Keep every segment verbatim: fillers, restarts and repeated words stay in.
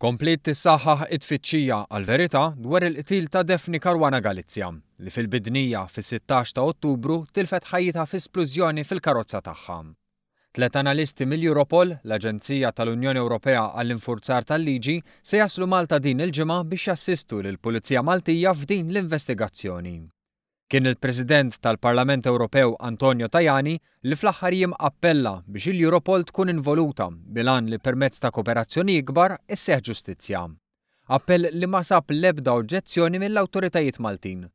Kompliet tissaħħaħ it-tfittxija għall-verità dwar il-qtil ta' Daphne Caruana Galizia li fil-Bidnija fis-sittax ta' Ottubru tilfet ħajjitha fi splużjoni fil-karozza tagħha. Tlet analisti mill-Europol, l-Aġenzija tal-Unjoni Ewropea għall-Infurzar tal-Liġi, se jaslu Malta din il-ġimgħa biex jassistu lill-Pulizija Maltija f'din l-investigazzjoni. Kien il-President tal-Parlament Ewropew Antonio Tajani li fl-aħħar jiem appella biex il-Europol tkun involuta bil-għan li permezz ta' kooperazzjoni ikbar isseħħ ġustizzja. Appell li ma sab l-ebda oġġezzjoni mill-awtoritajiet Maltin.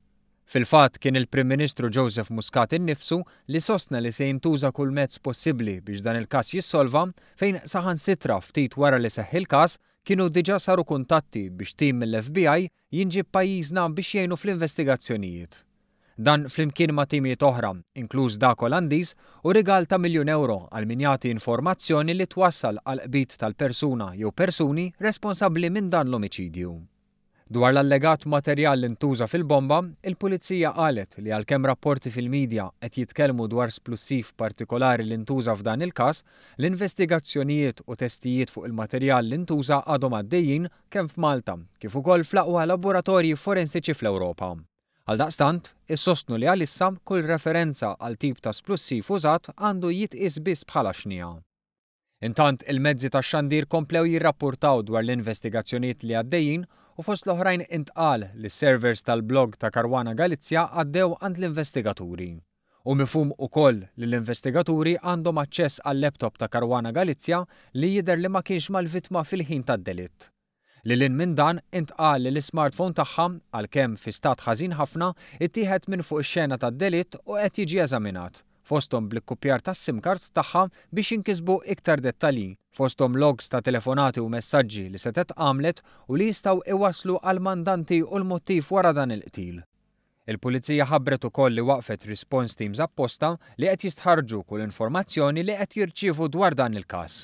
Fil-fatt kien il-Prim Ministru Joseph Muscat innifsu li sostna li se jintuża kull mezz possibbli biex dan il-każ jissolva, fejn saħansitra ftit wara li seħħ il-każ kienu diġà saru kuntatti biex tim mill-F B I jinġib pajjiżna biex jgħinu fl-investigazzjonijiet. Dan flimkien ma' timijiet oħra, inkluż dak Olandiż, u rigal ta' miljun euro għal min jagħti informazzjoni li twassal għal qbid tal-persuna jew persuni responsabbli minn dan l-omiċidju. Dwar l-allegat materjal li ntuża fil-bomba, il-Pulizija qalet li għalkemm rapporti fil-medja qed jitkellmu dwar splussiv partikolari li ntuża f'dan il-każ, l-investigazzjonijiet u testijiet fuq il-materjal li ntuża għadhom għaddejjin kemm f'Malta kif ukoll fl-aqwa laboratorji forensiċi fl-Ewropa. Għaldaqstant, issostnu li għalissa kull referenza għal tip ta' splussiv użat għandu jitqies biss bħala xnija. Intant, il-mezzi ta' xandir komplew jirrapportaw dwar l-investigazzjonijiet li għaddejjin u fost l-oħrajn intqal li s-servers tal-blog ta' Caruana Galizia għaddew għand l-investigaturi. U mifhum ukoll li l-investigaturi għandhom aċċess għal-laptop ta' Caruana Galizia li jidher li ma kienx mal-vittma fil-ħin tad-delitt. Lil hinn minn dan, intqal li l-smartphone tagħha, għalkemm fi stat ħażin ħafna, ittieħed minn fuq ix-xena tad-delitt u qed jiġi eżaminat, fosthom bl-ikkupjar tas-SIM card tagħha biex jinkisbu iktar dettalji, fosthom logs ta' telefonati u messaġġi li setgħet għamlet u li jistgħu iwasslu għal mandanti u l-mottiv wara dan il-qtil. Il-Pulizija ħabbret ukoll li waqfet response teams apposta li qed jistħarġu kull informazzjoni li qed jirċievu dwar dan il-każ.